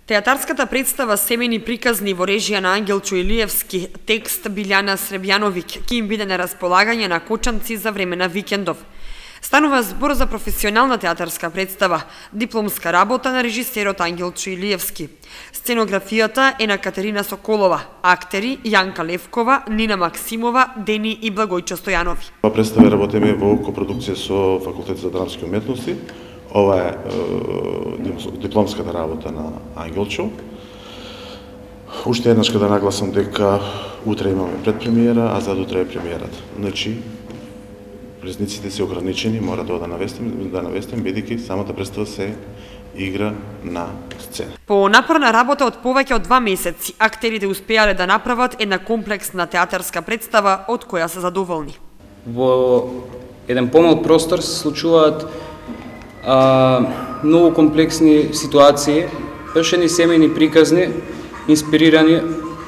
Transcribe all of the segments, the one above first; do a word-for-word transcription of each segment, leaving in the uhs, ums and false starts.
Театарската представа Семејни приказни во режија на Ангелчо Илиевски, текст Билјана Сребјановиќ, ќе им биде на располагање на Кочанци за време на викендов. Станува збор за професионална театарска представа, дипломска работа на режисерот Ангелчо Илиевски. Сценографијата е на Катерина Соколова, актери Јанка Левкова, Нина Максимова, Дени и Благојчо Стојанови. Ова представа работиме во копродукција со Факултет за драмски уметности. Ова е, е дипломската работа на Ангелчо. Уште еднаш да нагласам дека утре имаме предпремиера, а задутре е премиерата. Значи, влезниците се ограничени, мора да навестим, да навестим, бидејќи самата представа се игра на сцена. По напорна работа од повеќе од два месеци, актерите успеале да направат една комплексна театарска представа од која се задоволни. Во еден помал простор се случуваат а, многу комплексни ситуации, баш едни семејни приказни, инспирирани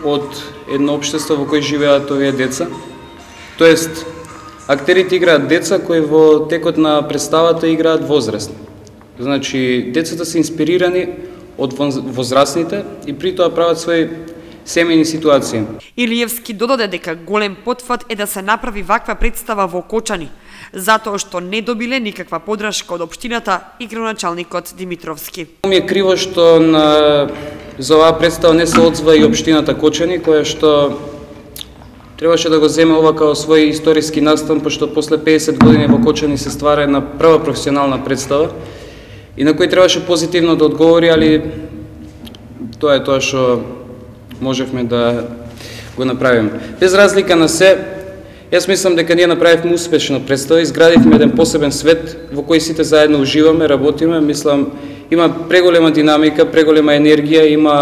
од едно општество во кој живеат овие деца. Тоест, актерите играат деца кои во текот на представата играат возрастни. Значи, децата се инспирирани од возрастните и при тоа прават своји семејни ситуации. Илиевски додаде дека голем потфат е да се направи ваква представа во Кочани, затоа што не добиле никаква подршка од општината и градоначалникот Димитровски. Ми е криво што на... за оваа представа не се одзва и општината Кочани, која што требаше да го земе ова као свој историски настан, пошто после педесет години во Кочани се ствара една прва професионална представа и на кој требаше позитивно да одговори, али тоа е тоа што можевме да го направиме. Без разлика на се, јас мислам дека ние направивме успешна представа, изградивме еден посебен свет во кој сите заедно уживаме, работиме, мислам, има преголема динамика, преголема енергија, има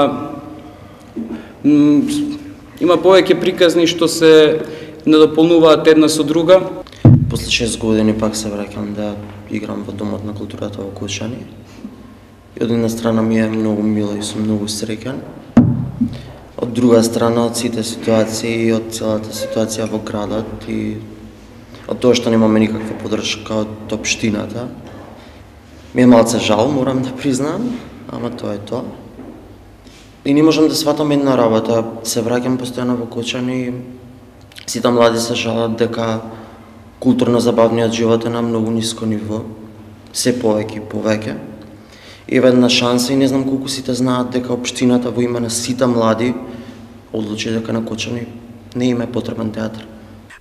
има повеќе приказни што се надополнуваат една со друга. После шест години пак се враќам да играм во Домот на културата во Кочани. И од една страна ми е многу мило и сум многу среќен. Од друга страна, од сите ситуации и од целата ситуација во градот и од тоа што немаме никаква подршка од општината, ми е малце жал, морам да признам, ама тоа е тоа. И не можам да сватам една работа. Се враќам постојано во Кочани. Сите млади се жалат дека културно-забавниот живот е на многу ниско ниво. Се повеќе и повеќе. И една шанса и не знам колку сите знаат дека општината во име на сите млади одлучи дека на Кочани не им е потребен театар.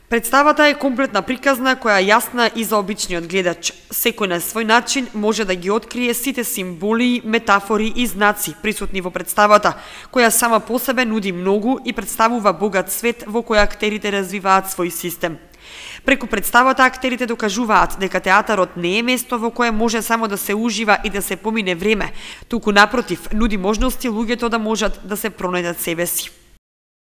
Представата е комплетна приказна која е јасна и за обичниот гледач. Секој на свој начин може да ги открие сите символи, метафори и знаци присутни во представата, која сама по себе нуди многу и представува богат свет во кој актерите развиваат свој систем. Преку представата актерите докажуваат дека театарот не е место во кое може само да се ужива и да се помине време, туку напротив, нуди можности луѓето да можат да се пронајдат себе си.